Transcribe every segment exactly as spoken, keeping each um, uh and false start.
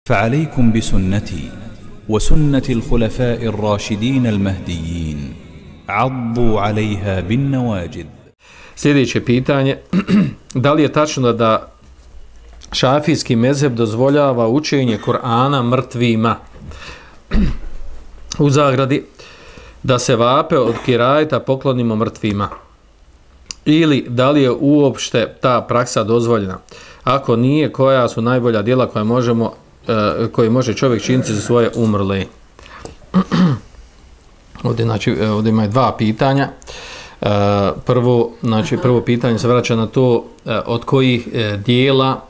فعليكم بسنتي وسنة الخلفاء الراشدين المهديين عضوا عليها بالنواجذ. Sljedeće pitanje, da li je tačno da šafijski mezheb dozvoljava učenje Kur'ana mrtvima? U zagradi, da se vape od kirajeta poklonimo mrtvima. Ili da li je uopšte ta praksa dozvoljena? Ako nije, koja su najbolja djela koja možemo, koje može čovjek činiti za svoje umrle? Ovdje, znači, ovdje ima dva pitanja. Prvo, znači, prvo pitanje se vraća na to od kojih dijela,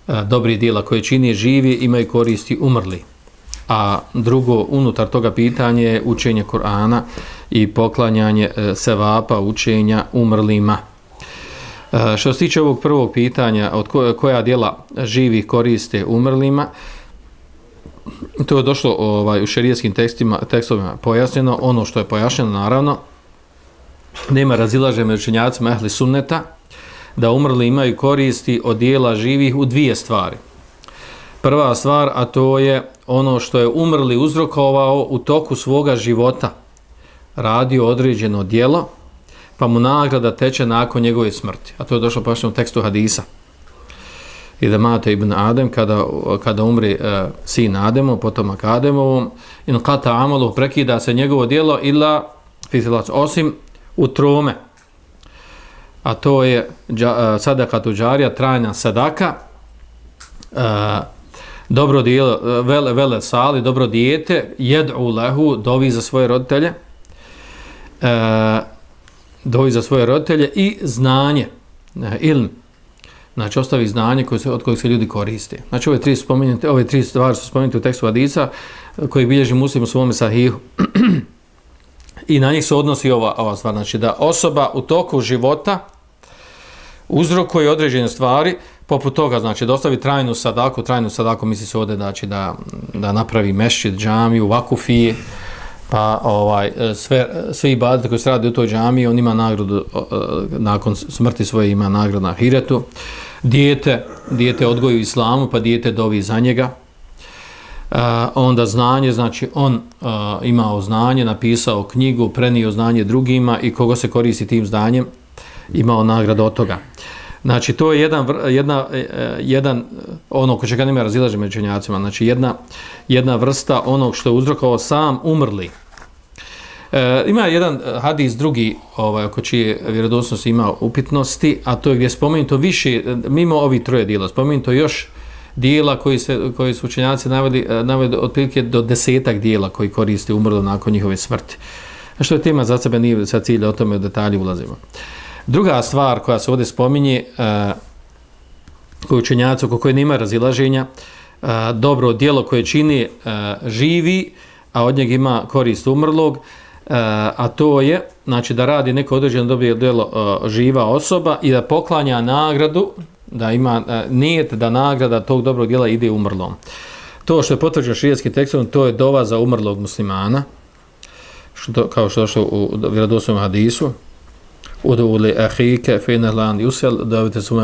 dobrih dijela koje čini živi, imaju koristi umrli. A drugo, unutar toga pitanje je učenje Kur'ana i poklanjanje sevapa učenja umrlima. Što se tiče ovog prvog pitanja, od koja djela živih koriste umrlima, to je došlo ovaj, u šerijskim tekstima, tekstovima pojasnjeno. Ono što je pojašnjeno, naravno, nema razilaženja među učenjacima ehli sunneta, da umrli imaju koristi od djela živih u dvije stvari. Prva stvar, a to je ono što je umrli uzrokovao u toku svoga života, radio određeno djelo, pa mu nagrada teče nakon njegove smrti. A to je došlo pojašnjeno u tekstu hadisa. I da mate ibn Adem, kada, kada umri e, sin Ademov, potomak Ademovom, in kata amalu, prekida se njegovo djelo, ila fitilac, osim u trome. A to je dža, sadaka tuđarija, trajna sadaka, e, dobro djelo, vele, vele sali, dobro dijete, jed'u lehu, dovi za svoje roditelje, e, dovi za svoje roditelje i znanje, ilm, znači ostavi znanje koje se, od kojeg se ljudi koriste. Znači ove tri, ove tri stvari su spomenute u tekstu hadisa koji bilježi Muslim u svome sahihu i na njih se odnosi ova, ova stvar, znači da osoba u toku života uzrokuje određene stvari, poput toga, znači da ostavi trajnu sadaku, trajnu sadaku misli se ovdje, znači da, da napravi mešćid, džamiju, vakufije, pa ovaj, sve, sve ibadete koji se radi u toj džamiji, on ima nagradu, nakon smrti svoje ima nagradu na ahiretu. Dijete, dijete odgoji u islamu, pa dijete dovi za njega. Uh, onda znanje, znači on uh, imao znanje, napisao knjigu, prenio znanje drugima i kogo se koristi tim znanjem, imao nagradu od toga. Znači to je jedan, jedna, jedan ono ko čega nema razilaže među učenjacima, znači jedna, jedna vrsta onog što je uzrokovao sam umrli. E, ima jedan hadis drugi, ovaj, oko čije vjerodostojnosti ima upitnosti, a to je gdje je spomenuto više, mimo ovih troje dijela, spomenuto još dijela koji, se, koji su učenjaci naveli, naveli otprilike do desetak dijela koji koriste umrli nakon njihove smrti. A što je tema za sebe, nije sa cilja o tome u detalji ulazimo. Druga stvar koja se ovdje spominje, uh, koju učenjaci oko koje nema razilaženja, uh, dobro djelo koje čini uh, živi, a od njega ima korist umrlog, uh, a to je, znači da radi neko određeno dobro djelo uh, živa osoba i da poklanja nagradu, da ima uh, nijet da nagrada tog dobrog djela ide umrlom. To što je potvrđeno šerijskim tekstom, to je dova za umrlog muslimana, što, kao što je došlo u vjerodostojnom hadisu. Uduli ahike fenelan yusel, dovite su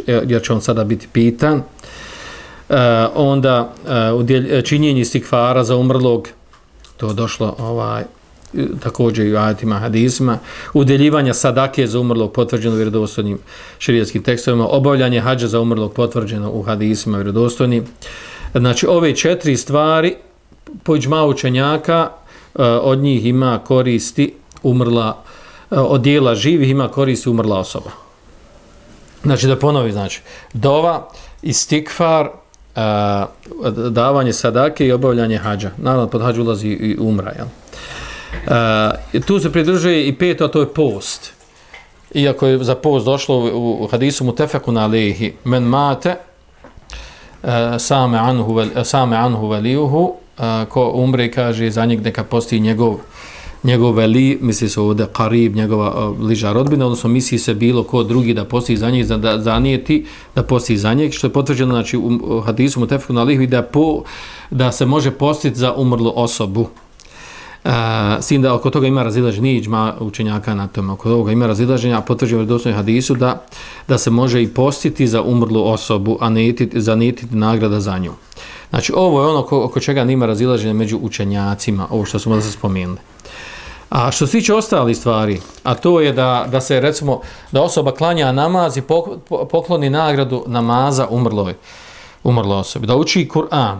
jer će on sada biti pitan. Uh, onda uh, činjenje istikfara za umrlog, to je došlo ovaj, također i u ajetima hadisima, udjeljivanja sadake za umrlog potvrđeno u vjerodostojnim šerijskim tekstovima, obavljanje hadža za umrlog potvrđeno u hadisima vjerodostojnim. Znači ove četiri stvari po iđmau učenjaka uh, od njih ima koristi umrla, od dijela živih ima koristi umrla osoba. Znači da ponovi, znači dova, istikfar, uh, davanje sadake i obavljanje hadža. Naravno pod hadžu ulazi i umra. Jel? Uh, tu se pridružuje i peto, a to je post. Iako je za post došlo u, u hadisu mutefekun alejhi men mate uh, same anhu, same anhu velijuhu, uh, ko umre kaže za njeg neka posti njegov njegov veli, misli se ovdje karib, njegova uh, bliža rodbina, odnosno misli se bilo ko drugi da posti za njeg, da zanijeti da posti za njeg, što je potvrđeno znači, u, u hadisu mutefekun alejhi da, po, da se može postiti za umrlu osobu. s tim da oko toga ima razilaženja, nije iđma učenjaka na tome, oko toga ima razilaženja, a potvrđuje u dostojnom hadisu da, da se može i postiti za umrlu osobu, a ne zanijeti nagrada za nju. Znači, ovo je ono oko, oko čega nima razilaženja među učenjacima, ovo što smo da se spomenuli. A što se tiče ostalih stvari, a to je da, da se, recimo, da osoba klanja namaz i pokloni nagradu namaza umrloj, umrloj osobi, da uči Kur'an,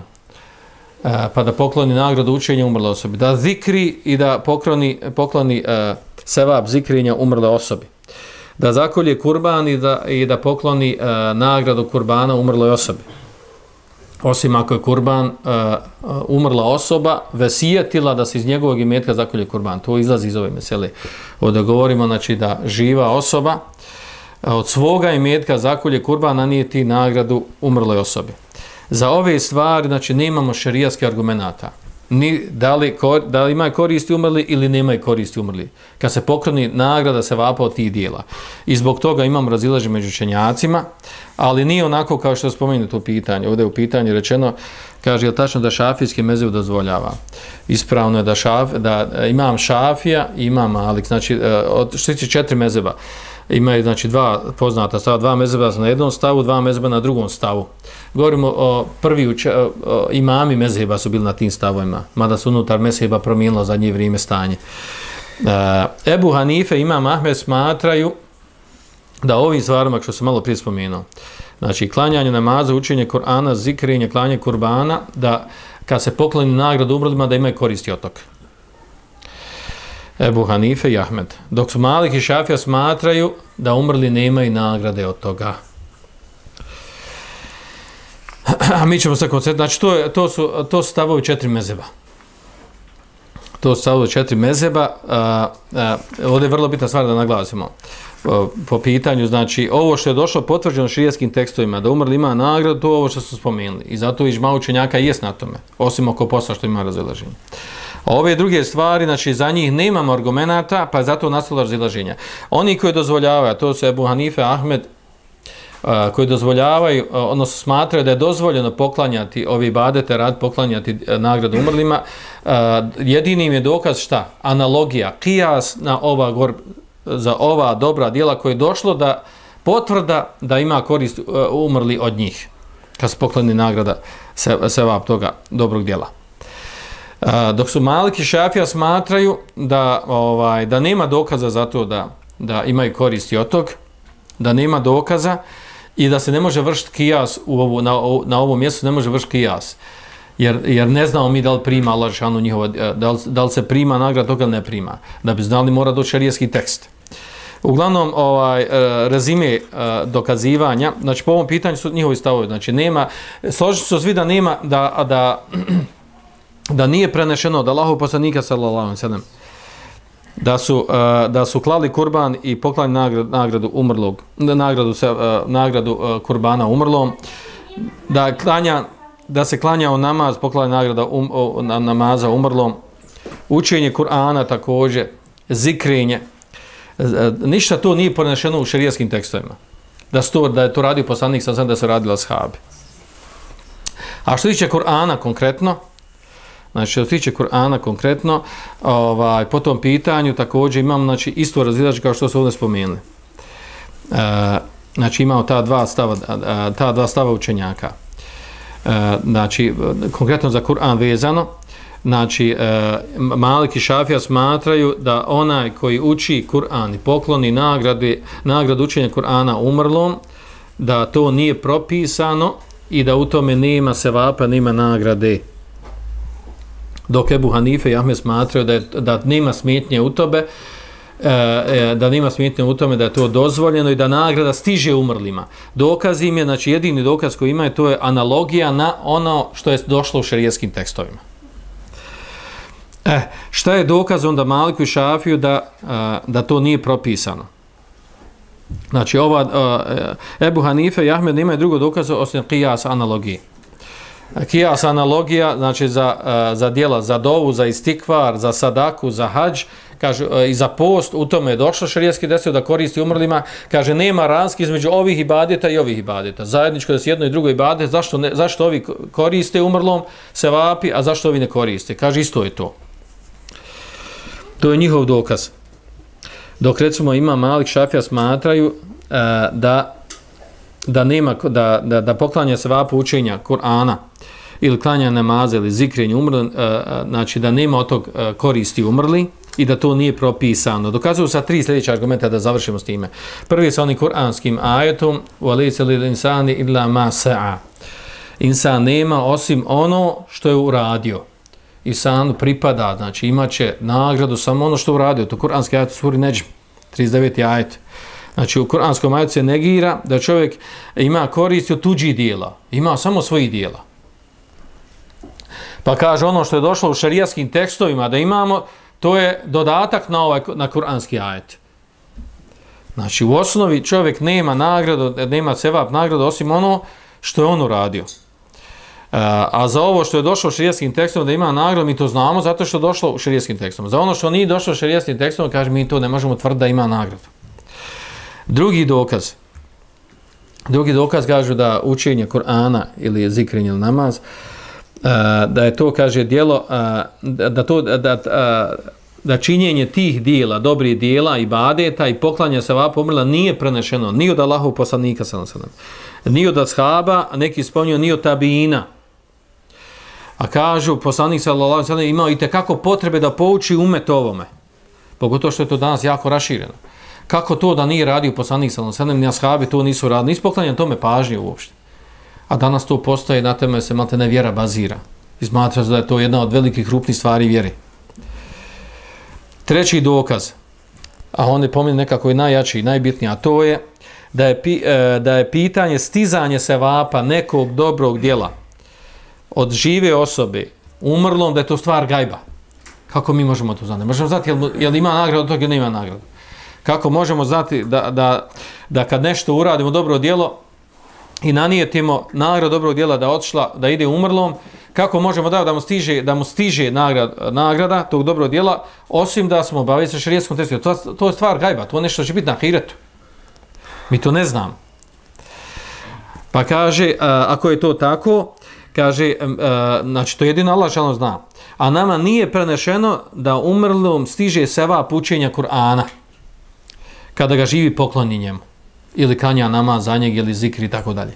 pa da pokloni nagradu učenja umrle osobi, da zikri i da pokloni, pokloni uh, sevap zikrinja umrle osobi, da zakolje kurban i da, i da pokloni uh, nagradu kurbana umrloj osobi. Osim ako je kurban uh, umrla osoba vesijetila da se iz njegovog imetka zakolje kurban. To izlazi iz ove mesele. Ovdje govorimo, znači, da živa osoba od svoga imetka zakolje kurban, a nije ti nagradu umrloj osobi. Za ove stvari, znači, nemamo šerijatskih argumenata. Ni, da, li, da li imaju koristi umrli ili nemaju koristi umrli. Kad se pokloni nagrada se vapa od tih dijela. I zbog toga imamo razilaženje među učenjacima, ali nije onako kao što spomenuto u pitanju. Ovdje je u pitanju rečeno, kaže, je li tačno da šafijski mezheb dozvoljava? Ispravno je da, šaf, da imam Šafija i imam Malik, znači, od što tiče četiri mezheba. Imaju, znači, dva poznata stava, dva mezheba na jednom stavu, dva mezheba na drugom stavu. Govorimo o prvi uče, o, imami mezheba su bili na tim stavovima, mada su unutar mezheba promijenilo zadnje vrijeme stanje. E, Ebu Hanife i imam Ahmed smatraju da ovim stvarima, što sam malo prije spomenuo, znači, klanjanje namaza, učenje Kur'ana, zikrenje, klanje kurbana, da kad se pokloni nagradu umrlima, da imaju koristi od toga. Ebu Hanife i Ahmed. Dok su Malik i Šafija smatraju da umrli nemaju nagrade od toga. A mi ćemo se koncentrirati. Znači, to, je, to, su, to su stavovi četiri mezheba. To su stavovi četiri mezheba. A, a, ovdje je vrlo bitna stvar da naglasimo. Po, po pitanju, znači, ovo što je došlo potvrđeno šerijskim tekstovima, da umrli ima nagradu, to je ovo što su spomenuli. I zato iđma učenjaka jest na tome. Osim oko posla što ima razilaženje. A ove druge stvari, znači, za njih nemamo argumenata, pa je zato nastalo razilaženja. Oni koji dozvoljavaju, to su Ebu Hanife, Ahmed, a, koji dozvoljavaju, a, odnosno smatraju da je dozvoljeno poklanjati ovi ibadete, rad poklanjati a, nagradu umrlima, a, jedinim je dokaz šta? Analogija, kijas na ova gor, za ova dobra djela koje je došlo da potvrda da ima korist a, umrli od njih, kad se pokloni nagrada se, sevap toga dobrog djela. Uh, dok su Malik i Šafija smatraju da, ovaj, da nema dokaza za to da, da imaju koristi od tog, da nema dokaza i da se ne može vršiti kijas u ovu, na, na ovom mjestu, ne može vršiti kijas. Jer, jer ne znamo mi da li prima Allah šanu njihova, da li, da li se prima nagrada toga ili ne prima. Da bi znali mora doći šerijski tekst. Uglavnom, ovaj, rezime dokazivanja, znači po ovom pitanju su njihovi stavovi, znači nema, složiti su svi da nema, da, da da nije prenešeno od Allahov poslanika sallallahu alejhi ve sellem da su uh, da su klali kurban i poklali nagradu, nagradu umrlog nagradu se uh, nagradu uh, kurbana umrlom, da klanja da se klanjao namaz, poklali nagrada um, uh, namaza umrlom, učenje Kur'ana također, zikrenje, uh, ništa to nije prenešeno u šerijskim tekstovima. Da sto da je to radio poslanik sallallahu alejhi ve sellem, da se radilo ashabi. A što tiče Kur'ana konkretno, znači, što se tiče Kur'ana konkretno, ovaj, po tom pitanju također imamo, znači, isto razilaženje kao što su ovdje spomenuli. E, znači, imamo ta dva stava, ta dva stava učenjaka. E, znači, konkretno za Kur'an vezano, znači, e, Malik i Šafija smatraju da onaj koji uči Kur'an i pokloni nagrade, nagradu učenja Kur'ana umrlom, da to nije propisano i da u tome nema sevapa, nema nagrade. Dok Ebu Hanife i Ahmed smatraju da, je, da nema smetnje u tobe, e, da nema smetnje u tome da je to dozvoljeno i da nagrada stiže umrlima. Dokaz im je, znači jedini dokaz koji ima, to je analogija na ono što je došlo u šerijskim tekstovima. E, šta je dokaz onda Maliku i Šafiju da, da to nije propisano? Znači, ova, Ebu Hanife i Ahmed nemaju drugo dokaza osim kijas analogije. Kijas analogija, znači za, za djela, za dovu, za istikvar, za sadaku, za hadž, kaže, i za post, u tome je došlo šerijski desio da koristi umrlima, kaže, nema razlike između ovih ibadeta i ovih ibadeta. Zajedničko da se jedno i drugo ibadet, zašto, ne, zašto ovi koriste umrlom, se vapi, a zašto ovi ne koriste? Kaže, isto je to. To je njihov dokaz. Dok recimo ima Malik, Šafija smatraju uh, da da nema da da da poklanja se vapu učenja Kur'ana ili klanja namaza ili zikrenje umrli, uh, znači da nema od tog uh, koristi umrli i da to nije propisano. Dokazuju sa tri sljedeća argumenta da završimo s time. Prvi je sa onim kuranskim ajetom وَلَيْسَ لِلْإِنسَانِ إِلَّا مَا سَعَى. Insan nema osim ono što je uradio. Insanu pripada, znači imaće nagradu samo ono što je uradio. To kuranski ajet u suri Nedžm, trideset deveti ajet. Znači u kuranskom ajetu se negira da čovjek ima koristi od tuđih dijela. Ima samo svojih dijela. Pa kaže ono što je došlo u šerijaskim tekstovima da imamo, to je dodatak na ovaj na kuranski ajet. Znači u osnovi čovjek nema nagradu, nema sevap nagradu osim ono što je on uradio. A za ovo što je došlo u šerijskim tekstom da ima nagradu, mi to znamo zato što je došlo u šerijskim tekstom. Za ono što nije došlo u šerijskim tekstom, kaže mi to ne možemo tvrditi da ima nagradu. Drugi dokaz. Drugi dokaz kažu da učenje Kur'ana ili zikrenje ili namaz, da je to, kaže, djelo, da to da, da, da činjenje tih dijela, dobrih dijela, ibadeta i poklanja se vapu umrla nije prenešeno ni od Allahovog poslanika sallallahu alejhi ve sellem, ni od ashaba, neki spominju ni od tabiina. A kažu, poslanik sallallahu alejhi ve sellem imao i tekako potrebe da pouči umet ovome. Pogotovo što je to danas jako rašireno. Kako to da nije radio poslanik sallallahu alejhi ve sellem, ni ashabi to nisu radili, nisu poklanjali tome pažnje uopšte. A danas to postoje, na tome se malte ne vjera bazira. I smatra se da je to jedna od velikih krupnih stvari vjere. Treći dokaz, a on je po meni nekako i najjači i najbitniji, a to je da je, da je pitanje stizanje sevapa nekog dobrog djela od žive osobe umrlom, da je to stvar gajba. Kako mi možemo to znati? Možemo znati jel, jel ima nagradu od toga ili nema nagradu. Kako možemo znati da, da, da kad nešto uradimo dobro djelo i nanijetimo nagradu dobrog djela da odšla, da ide umrlom, kako možemo da, da mu stiže, da mu stiže nagrada, nagrada tog dobrog djela, osim da smo obavili sa šerijskom testu. To, to je stvar gajba, to je nešto će biti na ahiretu. Mi to ne znamo. Pa kaže, a, ako je to tako, kaže, a, znači to jedino Allah šalno zna. A nama nije prenešeno da umrlom stiže sevap učenja Kur'ana kada ga živi pokloni njemu. Ili kanja namaz za njeg, ili zikri i tako dalje.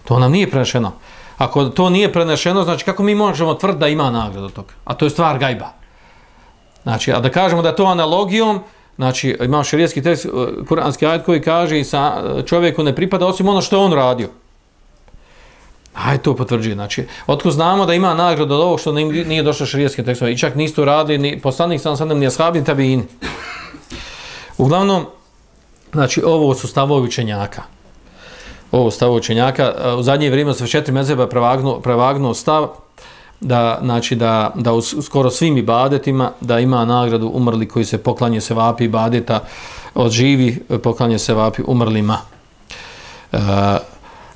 To nam nije prenešeno. Ako to nije prenešeno, znači kako mi možemo tvrditi da ima nagradu od toga? A to je stvar gajba. Znači, a da kažemo da je to analogijom, znači imamo šerijski tekst, kuranski ajet koji kaže i sa čovjeku ne pripada osim ono što je on radio. Aj to potvrđuje. Znači, otko znamo da ima nagradu od ovog što nije došlo šerijski tekst. I čak nisu radili ni poslanik sam sadem, ni ashabi, ni tabiini. Uglavnom, znači, ovo su stavovi učenjaka. Ovo stavovi učenjaka. U zadnje vrijeme se četiri mezheba prevagnuo, prevagnuo stav da, znači, da, da u skoro svim ibadetima da ima nagradu umrli koji se poklanje se vapi ibadeta od živi poklanje se vapi umrlima. E,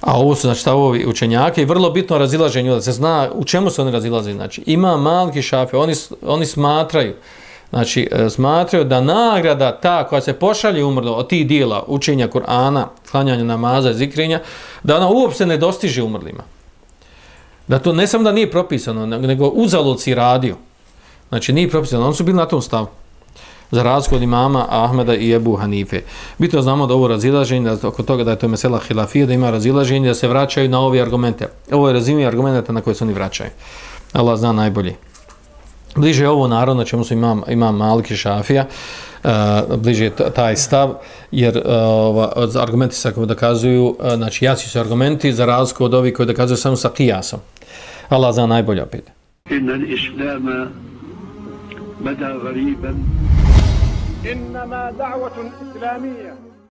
a ovo su znači stavovi učenjaka i vrlo bitno razilaženje da se zna u čemu se oni razilaze. Znači, ima Malik i Šafija, oni, oni smatraju Znači, smatraju da nagrada ta koja se pošalje umrlo od tih dijela učenja Kur'ana, klanjanja namaza i zikrenja, da ona uopšte ne dostiže umrlima. Da to ne samo da nije propisano, nego uzalud si radio. Znači, nije propisano. Oni su bili na tom stavu. Za razliku od imama Ahmeda i Ebu Hanife. Bitno znamo da ovo razilaženje, da oko toga da je to mesela hilafija, da ima razilaženje, da se vraćaju na ove argumente. Ovo je razumije argumenta na koje se oni vraćaju. Allah zna najbolje. Bliže je ovo naravno na čemu su imam, imam Malik i Šafija, uh, bliže je taj stav, jer uh, argumenti se kako dokazuju, uh, znači jaci su argumenti za razliku od ovih koji dokazuju samo sa kijasom. Allah zna najbolje opet. Inna l-islama bada gariban. Innama da'vatun islamija.